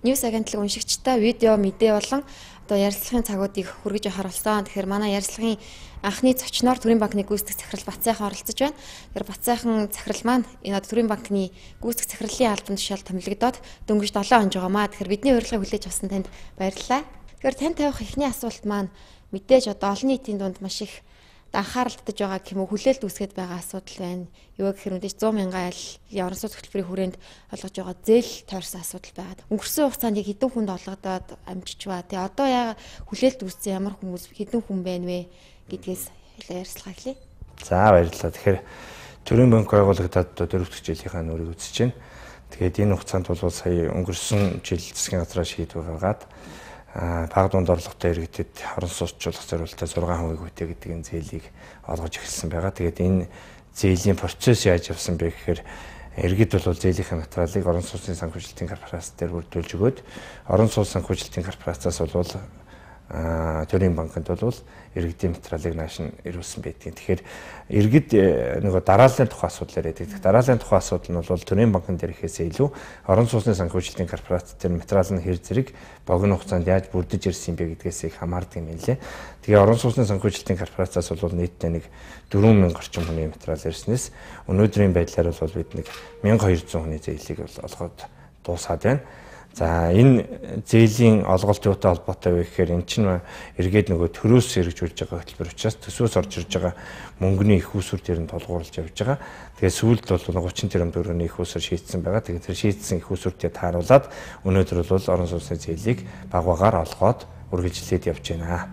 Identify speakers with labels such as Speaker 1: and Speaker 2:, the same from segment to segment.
Speaker 1: Ньюс агентлаг уншигчтай видео мэдээ болон одоо ярилцлагын цагуудыг хүргэж харуулсан. Тэгэхээр манай ярилцлагын анхны зочноор Төрийн банкны гүйцэтгэх захирал Бацайхан оролцож байна. Тэгэхээр Бацайхан захирал маань энэ Төрийн банкны гүйцэтгэх захирлын албан тушаал томилогдоод дөнгөж 7 хоног байгаамаа. Тэгэхээр бидний урилгыг хүлээж авсан танд баярлалаа. Тэгэхээр тань тавих эхний асуулт маань мэдээж одоо олон нийтийн дунд маш их анхаарал татаж байгаа гэмүү хүлээлт үүсгэж байгаа асуудал байна. Юу гэхээр мэдээж 100 мянган айлын орон сууц хөтөлбөрийн хүрээнд олгож байгаа зээл тойрсон асуудал байгаад. Өнгөрсөн хугацаанд яг хэдэн хүнд олгодоод амжиж ба. Тэгээ одоо яа хүлээлт үүссэн ямар хүмүүс хэдэн хүн байна вэ гэдгээс ярилцлага хэлье.
Speaker 2: За баярлалаа. Тэгэхээр Төрийн банк байгуулагдаад одоо 4 дахь жилийнхаа нүрийг үзэж байна. Тэгээд энэ хугацаанд бол сая өнгөрсөн жил засгийн газраа шийдвэр гаргаад бага дунд орлоготой иргэдэд орон сууцчлах зорилттой 6% хүйтэ гэдэг энэ зээлийг олгож эхэлсэн байгаа. Тэгээд энэ зээлийн процесс яаж явсан бэ гэхээр иргэд бол зээлийнхээ материалыг орон сууцны санхүүжилтийн корпорац дээр бүрдүүлж өгөөд орон сууц санхүүжилтийн корпорацаас бол Төрийн банкнд бол иргэдийн материалыг нааш нь ирүүлсэн байдгийг. Тэгэхээр иргэд нөгөө дарааллын тухай асуудал яриад байдаг. Дарааллын тухай асуудал нь бол Төрийн банкнд ирэхээс илүү орон сууцны санхүүжилтийн корпорац дээр материал нь хэр зэрэг богино хугацаанд яаж бүрдэж ирсэн бэ гэдгээс их хамаардаг юм лээ. Тэгээ орон сууцны санхүүжилтийн корпорацаас бол нийтдээ нэг 4000 орчим хүний материал ирснээс өнөөдрийн байдлаар бол бид нэг 1200 хүний зээлийг олгоод дуусаад байна. За энэ зээлийн олголт юутай холбоотой вэ гэхээр эн чинь эргээд нөгөө төрөөс хэрэгжүүлж байгаа хөтөлбөр учраас төсвөөс орж ирж байгаа мөнгөний их усүр дээр нь толгуурлаж явж байгаа. Тэгээ сүүлд бол 30 тэрбум төгрөгийн их усүр шийдсэн байгаа. Тэгээ тэр шийдсэн их усүртэй тааруулаад өнөөдөр бол орон сууцны зээлийг баг багаар олгоод үргэлжлээд явж байна.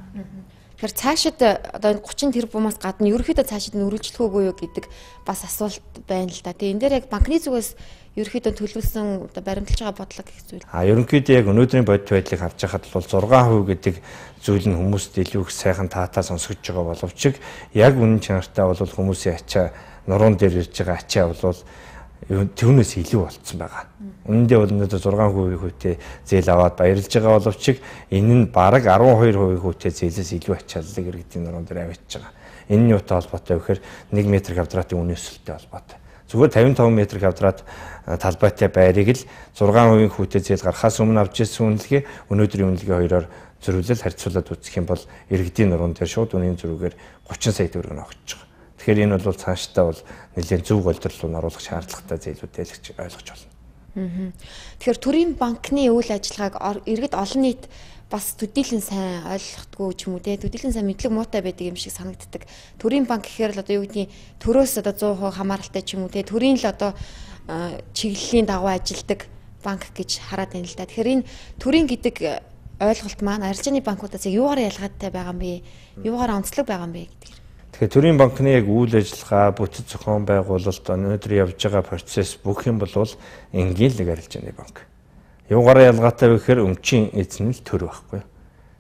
Speaker 1: Тэгэхээр цаашид одоо 30 тэрбумаас гадна ерөөхдөө цаашид нь үргэлжлэх үгүй юу гэдэг бас асуулт байна л да. Тэгээ энэ дээр яг банкны зүгээс ерөөхдөө төлөвлөсөн одоо баримталж байгаа бодлого гэх зүйл.
Speaker 2: Ерөнхийдөө яг өнөөдрийн бодит байдлыг харж байхад бол 6% гэдэг зүйл нь хүмүүст илүү их сайхан таатаа сонсгож байгаа боловч яг үнэн чанартай бол хүмүүсийн ачаа нуруунд дээр ирж байгаа ачаа бол түүнээс илүү болцсон байгаа. Үүндээ бол өнөөдөр 6% хүйтэ зээл аваад баярлж байгаа боловч энэ нь бараг 12% хүйтэ зээлээс илүү ачааллыг иргэдийн нуруунд дээр авчиж байгаа. Энэ нь юутай холбоотой вэ гэхээр 1 м2 үнэсэлтэй холбоотой. Зүгээр 55 м2 талбайтай байрыг л 6% хүйтэ зээл гарахаас өмнө авч ирсэн үнэлгээ өнөөдрийн үнэлгээ хоёроор зөрүүлэл харьцуулаад үзэх юм бол иргэдийн нуруунд дээр шууд үнийн зөрүүгээр 30 сая төгрөг өгч байгаа. Тэгэхээр энэ бол цаашдаа бол нэлээд зөв голдрол руу оруулах шаардлагатай зээлүүдтэй л гэж ойлгож байна.
Speaker 1: Тэгэхээр Төрийн банкны үйл ажиллагааг иргэд олон нийт бас төдийлөн сайн ойлгохдгүй ч юм уу те төдийлөн сайн мэдлэг муутай байдаг юм шиг санагддаг. Төрийн банк гэхээр л одоо юу гэдгийг төрөөс одоо 100% хамааралтай ч юм уу те төрийн л одоо чиглэлийн дагуу ажилдаг банк гэж хараад байна л да. Тэгэхээр энэ төрийн гэдэг ойлголт маань арилжааны банкудаас юугаар ялгаатай байгаа юм бэ? Юугаар онцлог байгаа юм бэ гэдэг.
Speaker 2: Тэгэхээр Төрийн банкны яг үйл ажиллагаа бүтэц зохион байгуулалт өнөөдөр явж байгаа процесс бүх юм бол энгийн нэг арилжааны банк. Юугаараа ялгаатай вэ гэхээр өмчийн эзэн л төр байхгүй.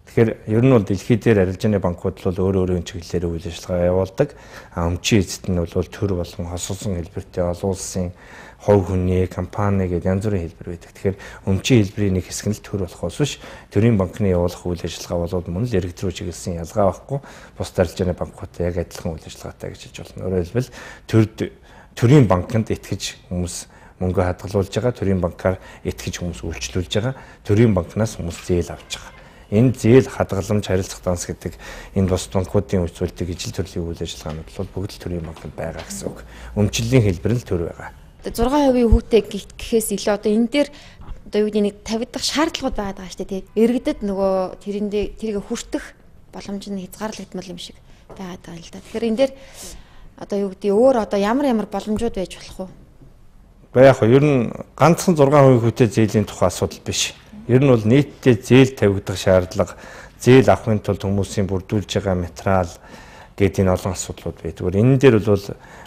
Speaker 2: Тэгэхээр ер нь бол дэлхий дээр арилжааны банкуд бол өөр чиглэлээр үйл ажиллагаа явуулдаг. Өмчийн эзэд нь бол төр болон хосолсон хэлбэртэй олон улсын хувь хүний, компани гэдэг янз бүрийн хэлбэр байдаг. Тэгэхээр өмчийн хэлбэрийн нэг хэсэг нь л төр болохоос биш Төрийн банкны явуулах үйл ажиллагаа бол мөн л иргэд рүү чиглэсэн ялгаа байхгүй. Бус арилжааны банкуудтай яг адилхан үйл ажиллагаатай гэж хэлж болно. Өөрөөр хэлбэл Төрийн банкнд итгэж хүмүүс мөнгө хадгалуулж байгаа, Төрийн банкаар итгэж хүмүүс үйлчлүүлж байгаа, Төрийн банкнаас хүмүүс зээл авч байгаа. Энэ зээл хадгаламж харилцах данс гэдэг энэ бус банкуудын үйлчлүүлдэг ижил төрлийн үйл ажиллагаанууд бол бүгд л Төрийн банкнд байгаа гэсэн үг. Өмчлөлийн хэлбэр нь төр байгаа.
Speaker 1: 6% хүүтэй гэхээс илүү одоо энэ дээр одоо юу гэдэг нэг тавигдах шаардлагууд байгаа шүү дээ. Иргэдэд нөгөө тэрийг хүртэх боломж нь хязгаарлагдмал юм шиг байгаад байгаа л да. Тэгэхээр энэ дээр одоо юу гэдэг өөр одоо ямар боломжууд байж болох вэ?
Speaker 2: Яг ер нь ганцхан 6% хүйтэ зээлийн тухай асуудал биш. Ер нь бол нийтдээ зээл тавигдах шаардлага, зээл авахын тулд хүмүүсийн бүрдүүлж байгаа материал гэдэг энэ олон асуудлууд байдаг. Энэ дээр бол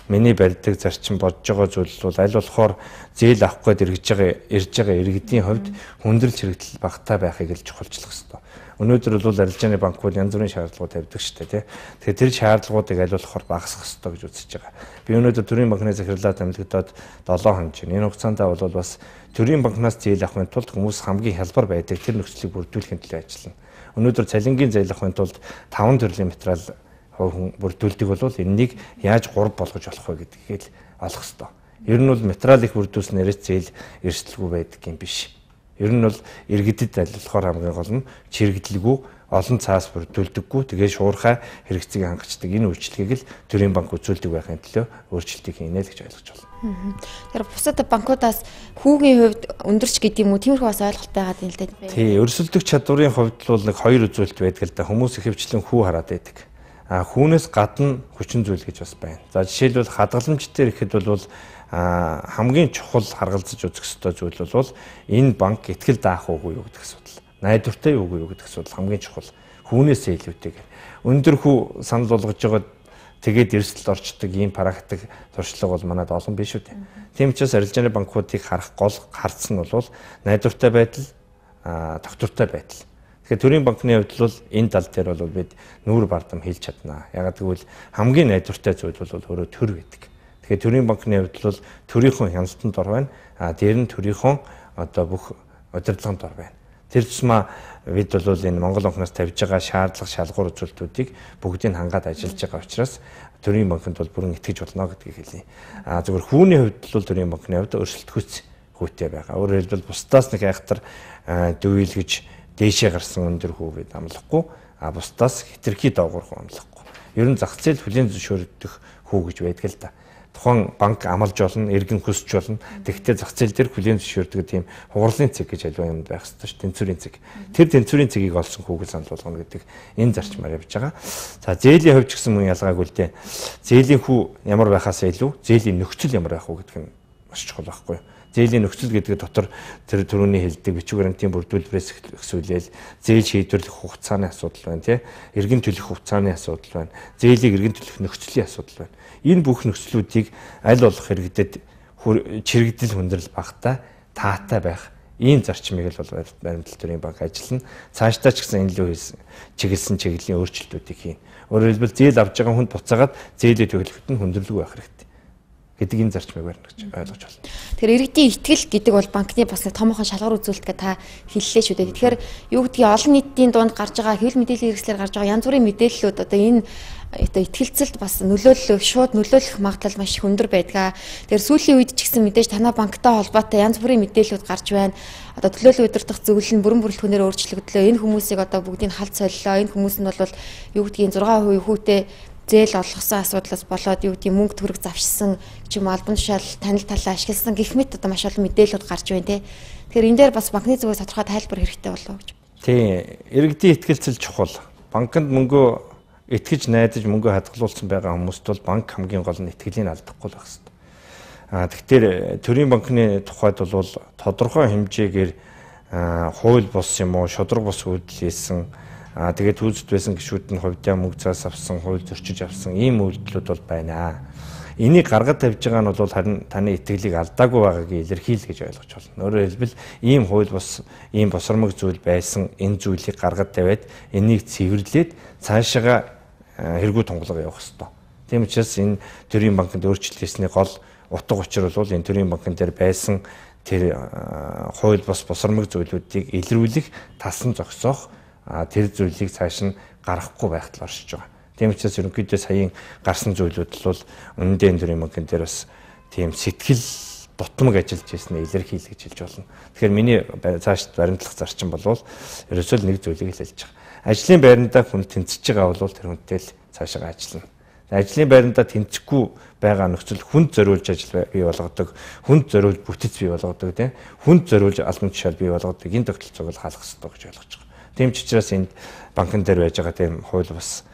Speaker 2: миний барьдаг зарчим бодож байгаа зүйл бол аль болохоор зээл авах гээд ирж байгаа иргэдийн хувьд хүндрэл хэрэгдэл багтаа байхыг л чухалчлах хэрэгтэй. Өнөөдөр бол арилжааны банкуд янз бүрийн шаардлагууд тавьдаг шүү дээ. Тэгэхээр тэр шаардлагуудыг аль болохоор багасгах хэрэгтэй гэж үзэж байгаа. Би өнөөдөр Төрийн банкны захирлаа томилогдоод 7 хоног чинь энэ хугацаанд бол бас Төрийн банкнаас зээл авахын тулд хүмүүс хамгийн хялбар байдаг тэр нөхцөлийг бүрдүүлэхин төлөө ажиллана. Өнөөдөр цалингийн зээл авахын тулд 5 төрлийн материал бүрдүүлдэг бол энэнийг яаж 3 болгож болох вэ гэдгийг л олох хэрэгтэй. Ер нь бол материал их бүрдүүлснээрээ зээл эрсдэлгүй байдаг юм биш. Ер нь бол иргэдэд айлуулахаар хамгийн гол нь чирэгдэлгүй олон цаас бүрдүүлдэггүй тэгээ шуурхай хэрэгцээг хангацдаг энэ үйлчлэгийг л төрийн банк үзүүлдэг байхын төлөө өөрчлөлтийг хийнэ л гэж ойлгож байна.
Speaker 1: Тэгэхээр бусад банкудаас хүүгийн хувьд өндөрч гэдэг юм уу тиймэрхүү бас ойлголт байгаа юм л да.
Speaker 2: Тий, өрсөлдөх чадварын хувьд бол нэг хоёр үзүүлэлт байдаг л да. Хүмүүс ихэвчлэн хүү хараад байдаг. Хүүнээс гадна хүчин зүйл гэж бас байна. За жишээлбэл хадгаламж дээр ихэд бол хамгийн чухал харгалзаж үзэх ёстой зүйл бол энэ банк итгэл даах уугүй юу гэдэг асуудал. Найдвартай юу гэдэг асуудал хамгийн чухал. Хүүнээсээ илүүтэйгээр. Өндөр хүү санал болгож байгаа тэгээд эрсдэлд орчдөг ийм практик туршлага бол манайд олон биш үү. Тийм учраас арилжааны банкуудыг харах гол харц нь бол найдвартай байдал, тогтвортой байдал. Тэгэхээр төрийн банкны хувьд бол энэ тал дээр бол бид нүүр бардам хийлж чаднаа. Ягаад гэвэл хамгийн найдвартай зүйл бол өөрөө төр гэдэг. Тэгэхээр төрийн банкны хувьд бол төрийнхөө хяналтанд ор байна. Дээр нь төрийнхөө одоо бүх удирдлаганд ор байна. Тэр тусмаа бид бол энэ Монгол банкнаас тавьж байгаа шаардлага шалгуур үзүүлэлтүүдийг бүгдийг хангаад ажиллаж байгаа учраас төрийн банкнд бол бүрэн итгэж болно гэдгийг хэлье. Зөвхөн хүүний хувьд бол төрийн банкны хувьд өрсөлдөхүйц хүүтэй байгаа. Өөрөөр хэлбэл бусдаас нэг айхтар дүййлгэж дээшээ гарсан өндөр хүү бид амлахгүй, бусдаас хитрхи доогуур хүү амлахгүй. Ер нь зах зээл хүлээн зөвшөөрөгдөх хүү гэж байдаг л да. Тухайн банк амлаж болно, иргэн хүсч болно. Тэгэхдээ зах зээл дээр хүлээн зөвшөөрдөг тийм хугарлын цэг гэж альва юм байх ёстой ш, тэнцвэрийн цэг. Тэр тэнцвэрийн цэгийг олсон хүүгэл санал болгоно гэдэг энэ зарчмаар явж байгаа. За зээлийн хувьд ч гэсэн мөн ялгаагүй л дээ. Зээлийн хүү ямар байхаас илүү зээлийн нөхцөл ямар байх уу гэдэг нь маш чухал байхгүй юу? Зээлийн нөхцөл гэдэг дотор тэр төрөний хэлдэг бичиг баримтын бүрдүүлбэрээс эхлүүлээл зээл шийдвэрлэх хугацааны асуудал байна тий. Иргэн төлөх хугацааны асуудал байна. Зээлийг иргэн төлөх нөхцөлийн асуудал байна. Энэ бүх нөхцлүүдийг аль болох иргэдэд чирэгдэл хүндрэл багтаа таатай байх ийм зарчмыг л бол баримтлал төрийн банк ажиллана. Цаашдаа ч гэсэн энэ лөө чиглэсэн чиглэлийн өөрчлөлтүүдийг хийнэ. Өөрөөр хэлбэл зээл авж байгаа хүнд буцаагаад зээлээ төлөхөд нь хүндрэлгүй байх хэрэгтэй гэдэг энэ зарчмыг барьна гэж ойлгож байна.
Speaker 1: Тэгэхээр иргэдийн итгэл гэдэг бол банкны бас нэг томоохон шалгуур үзүүлэлтгээ та хэллээ шүү дээ. Тэгэхээр юу гэдгийг олон нийтийн дунд гарч байгаа хэвлэл мэдээллийн хэрэгслээр гарч байгаа янз бүрийн мэдээллүүд одоо энэ итгэлцэлд бас шууд нөлөөлөх магадлал маш их өндөр байдаг. Тэгэхээр сүүлийн үед ч гэсэн мэдээж танай банктай холбоотой янз бүрийн мэдээллүүд гарч байна. Одоо төлөөлөл удирдах зөвлөл нь бүрэн бүрэлдэхүүнээр өөрчлөгдлөө. Энэ хүмүүсийг одоо бүгдийг халд солилоо. Энэ хүмүүс нь бол юу гэдгийг 6% хүүтэй зээл олгосон асуудлаас болоод юу гэдэг мөнгө төгрөг завшсан ч юм албан тушаал танил талаа ашигласан гэх мэт одоо маш олон мэдээлэлүүд гарч байна те. Тэгэхээр энэ дээр бас банкны зүгээс тодорхой тайлбар хэрэгтэй болов уу гэж.
Speaker 2: Тийм, иргэдийн итгэлцэл чухал. Банкнд мөнгөө итгэж найдаж мөнгөө хадгалуулсан байгаа хүмүүст бол банк хамгийн гол нь итгэлийг алдахгүй байх хэрэгтэй. Тэгэхээр төрийн банкны тухайд бол тодорхой хэмжээгээр хууль бус юм уу, шудраг бус үйлдэл хийсэн тэгээд үүсэт байсан гишүүд нь хувьдаа мөнгө цаас авсан, хууль зөрчиж авсан ийм үйлдэлүүд бол байна. Энийг гаргаж тавьж байгаа нь бол харин таны итгэлийг алдаагүй байгааг илэрхийл гэж ойлгож байна. Өөрөөр хэлбэл ийм хууль бус, ийм босромог зүйл байсан энэ зүйлийг гаргаж тавиад энийг цэвэрлээд цаашаага хэрэггүй тунгалаг явах ёстой. Тийм учраас энэ төрийн банкнд өөрчлөлт хийсний гол утга учир бол энэ төрийн банкн дээр байсан тэр хууль бус босромог зүйлүүдийг илрүүлэх, талсан зогсоох тэр зүйлийг цааш нь гаргахгүй байхад оршиж байгаа. Тийм учраас ерөнхийдөө саяын гарсан зүйлүүд бол үнэндээ төрийн банкн дээр бас тийм сэтгэл дутмаг ажиллаж ирсэнээ илэрхийлэх гэж хэлж болно. Тэгэхээр миний цааш баримтлах зарчим бол ерөөсөө нэг зүйлийг л хэлж байгаа. Ажлын байрандаа хүн тэнцэж байгаа бол тэр хүнтэй л цаашаа ажиллана. Ажлын байрандаа тэнцэхгүй байгаа нөхцөл хүнд зориулж ажил бий болгодог, хүнд зориулж бүтэц бий болгодог, тийм хүнд зориулж албан тушаал бий болгодог энэ тогтолцоог л хаалгах хэрэгтэй гэж ойлгож байгаа. Тийм ч учраас энд банкн дээр байж байгаа тийм хууль бас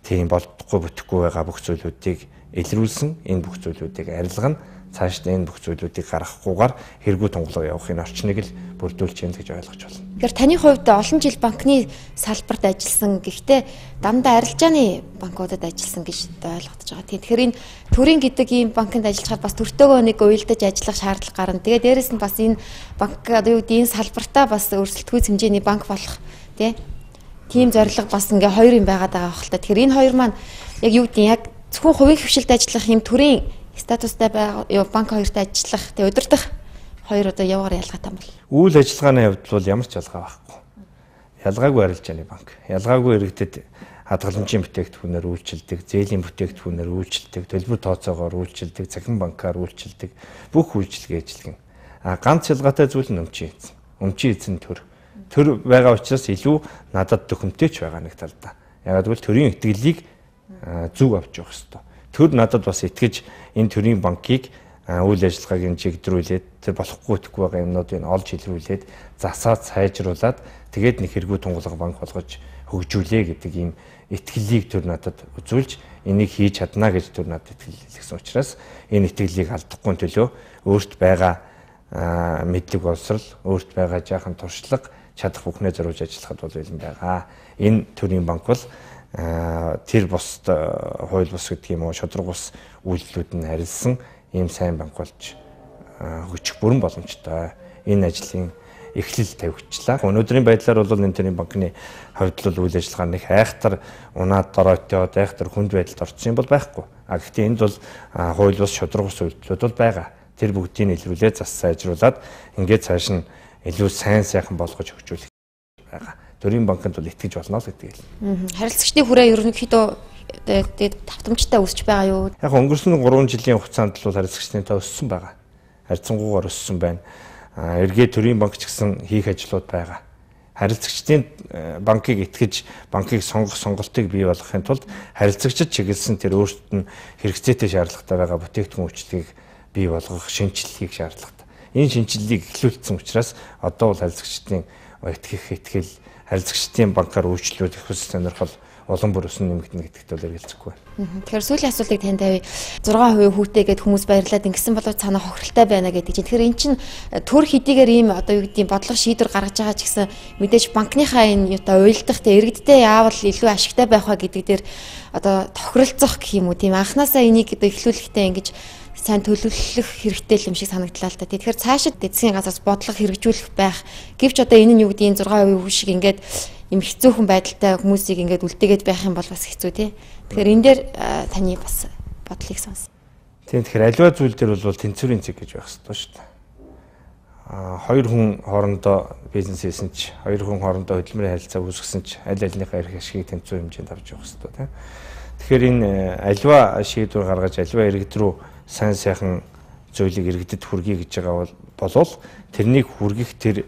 Speaker 2: тийм болдохгүй бүтэхгүй байгаа бүх зүйлүүдийг илрүүлсэн, энэ бүх зүйлүүдийг арилгана, цаашдаа энэ бүх зүйлүүдийг гаргахгүйгээр хэрэггүй тунгалаг явахын орчныг л бүрдүүлж яана гэж ойлгож байна.
Speaker 1: Тэгэхээр таны хувьд олон жил банкны салбарт ажилласан, гэхдээ дандаа арилжааны банкудад ажилласан гэж ойлгогдож байгаа. Тэгэхээр энэ төрийн гэдэг ийм банкнд ажиллахад бас төртөөгөө нэг уялдаж ажиллах шаардлага гарна. Тэгээ дээрэс нь бас энэ банк одоо юу гэдэг энэ салбартаа бас өрсөлдөхүйц хэмжээний банк болох тийм зорилго бас ингээ хоёр юм байгаад байгаа хэл та. Тэгэхээр энэ хоёр маань яг юу гэдэг яг зөвхөн хувийн хвшилд ажиллах юм төрийн статустай банк хоёрт ажиллах, тэгээ удирдах хоёр одоо явгаар ялгаатай юм бол.
Speaker 2: Үйл ажиллагааны хувьд бол ямар ч ялгаа байхгүй. Ялгаагүй арилжааны банк. Ялгаагүй иргэдэд хадгаламжийн бүтээгдэхүүнээр үйлчилдэг, зээлийн бүтээгдэхүүнээр үйлчилдэг, төлбөр тооцоогоор үйлчилдэг, цахим банкаар үйлчилдэг бүх үйлчилгээ ажиллагна. Ганц ялгаатай зүйл нь өмчийн эзэн. өмчийн эзэн төр. Төр байгаа учраас илүү надад төхөмтэйч байгаа нэг талдаа. Ягаад гэвэл төрийн итгэлийг зөв авч явах хэрэгтэй. Төр надад бас итгэж энэ төрийн банкыг үйл ажиллагааг нь чигдрүүлээд тэр болохгүй итгэхгүй байгаа юмнуудыг олж илрүүлээд засаад сайжруулад тэгээд нэг хэрэггүй тунгалаг банк болгож хөгжүүлээ гэдэг ийм итгэлийг төр надад үзүүлж энийг хийж чадна гэж төр надад итгэлсэн учраас энэ итгэлийг алдахгүй төлөө өөрт байгаа мэдлэг боловсрал, өөрт байгаа жаахан туршлага чадах бүхнээ зориулж ажиллахад бол бэлэн байгаа. Энэ төрийн банк бол тэр бус хууль бус гэдэг юм уу шудраг бус үйлдэлүүд нь харилсан ийм сайн банк болж хөгжих бүрэн боломжтой. Энэ ажлын эхлэл тавигчлаа. Өнөөдрийн байдлаар бол энэ төрлийн банкны хувьд л үйл ажиллагаа нэг айхтар унаад доройтой, айхтар хүнд байдалд орсон юм бол байхгүй. Гэхдээ энд бол хууль бус шудраг бус үйлдэлүүд бол байгаа. Тэр бүгдийг илрүүлээд зас сайжруулад ингээд цааш нь илүү сайн сайхан болгож хөгжүүлэх байгаа. Төрийн банкнд бол итгэж болно л гэдэг юм.
Speaker 1: Харилцагчдын хүрээ ерөнхийдөө тавтамжтай өсөж байгаа юу?
Speaker 2: Яг өнгөрсөн 3 жилийн хугацаанд бол харилцагчдын тоо өссөн байгаа. Харьцангуйгаар өссөн байна. Эргээд төрийн банк ч гэсэн хийх ажлууд байгаа. Харилцагчдын банкыг итгэж банкыг сонгох сонголтыг бий болгохын тулд харилцагчид чиглэсэн тэр өөрсдөд нь хэрэгцээтэй шаардлагатай байгаа бүтээгдэхүүн үйлчлэгийг бий болгох шинжилгээг шаардлагатай. Энэ шинжилгээг эхлүүлсэн учраас одоо бол харилцагчдын итгэл харилцагчдын банкаар үйлчлүүлэх их ус сонирхол улам бүр өснө нэмэгдэнэ гэдэгт бол эргэлзэхгүй байна.
Speaker 1: Тэгэхээр сүүлийн асуултыг танд тавья. 6% хүүтэй гэд хүмүүс баярлаад ингэсэн болов цаана хохиролтой байна гэдэг чинь. Тэгэхээр эн чинь төр хэдийгээр ийм одоо юу гэдгийг бодлого шийдвэр гаргаж байгаа ч гэсэн мэдээж банкныхаа энэ одоо уйлдах тэ иргэдтэй яавал илүү ашигтай байх ба гэдэг дээр одоо тохиролцох гэх юм уу тийм анханасаа энийг одоо эхлүүлэхдээ ингэж сайн төлөвлөх хэрэгтэй юм шиг санагдлаа л та. Тэгэхээр цаашид эцсийн газраас бодлого хэрэгжүүлэх байх. Гэвч одоо энэ нь юу гэдгийг 6% хүү шиг ингээд юм хэцүүхэн байдалтай хүмүүсийг ингээд үлдээгээд байх юм бол бас хэцүү тий. Тэгэхээр энэ дээр таны бас бодлыг сонс.
Speaker 2: Тийм тэгэхээр аливаа зүйл дээр бол тэнцвэрийн цэг гэж байх хэрэгтэй шүү дээ. Хоёр хүн хоорондоо бизнес хийсэн ч, хоёр хүн хоорондоо хөдөлмөрийн харилцаа үүсгэсэн ч аль альныхаа эрх ашигыг тэнцвэр хэмжээнд авч явах хэрэгтэй тий. Тэгэхээр энэ аливаа шийдвэр гаргаж аливаа иргэд рүү сайн сайхан зүйлийг иргэдэд хүргэе гэж байгаа болвол тэрнийг хүргэх тэр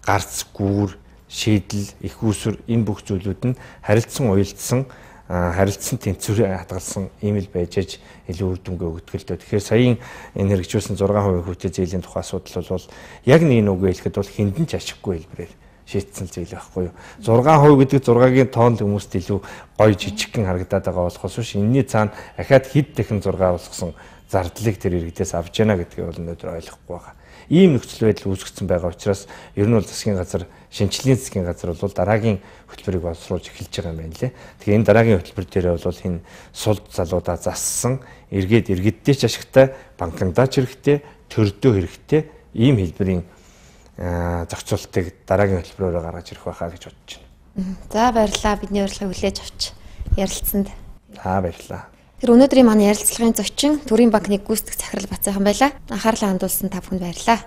Speaker 2: гарц гүүр шийдэл их усүр энэ бүх зүйлүүд нь харилцсан уялдсан харилцсан тэнцвэрээ хадгалсан ийм л байж аж илүү үр дүнгээ өгдөг л дээ. Тэгэхээр саяын энэ хэрэгжүүлсэн 6% хүүтэй зээлийн тухай асуудал бол яг нэг нүгэ хэлэхэд бол хиндэн ч ашиггүй хэлбэрээр шийдсэн зээл байхгүй юу. 6% гэдэг 6-гийн тоонд хүмүүст илүү гоё жижигхэн харагдаад байгаа болохоос биш энэний цаана ахаад хэд дахин 6 болгосон зардлыг тэр иргэдээс авч яана гэдгийг бол өнөөдөр ойлгохгүй байгаа. Ийм нөхцөл байдал үүсгэсэн байгаа учраас ер нь бол засгийн газар шинжилгээний засгийн газар бол дараагийн хөтөлбөрийг боловсруулж эхэлж байгаа юм байна лээ. Тэгэхээр энэ дараагийн хөтөлбөр дээр бол энэ сул залуудаа зассан эргээд иргэдтэй ч ашигтай, банкндаа ч хэрэгтэй, төрдөө хэрэгтэй ийм хэлбэрийн зохицуултыг дараагийн хөтөлбөрөөр гаргаж ирэх байхаа гэж бодож байна.
Speaker 1: За баярлалаа. Бидний урилгыг хүлээж авч ярилцсанд.
Speaker 2: За баярлалаа.
Speaker 1: Тэр өнөөдрийн манай ярилцлагын зочин Төрийн банкны гүйцэтгэх захирал Бацайхан байлаа. Анхаарлаа хандуулсан та бүхэнд баярлалаа.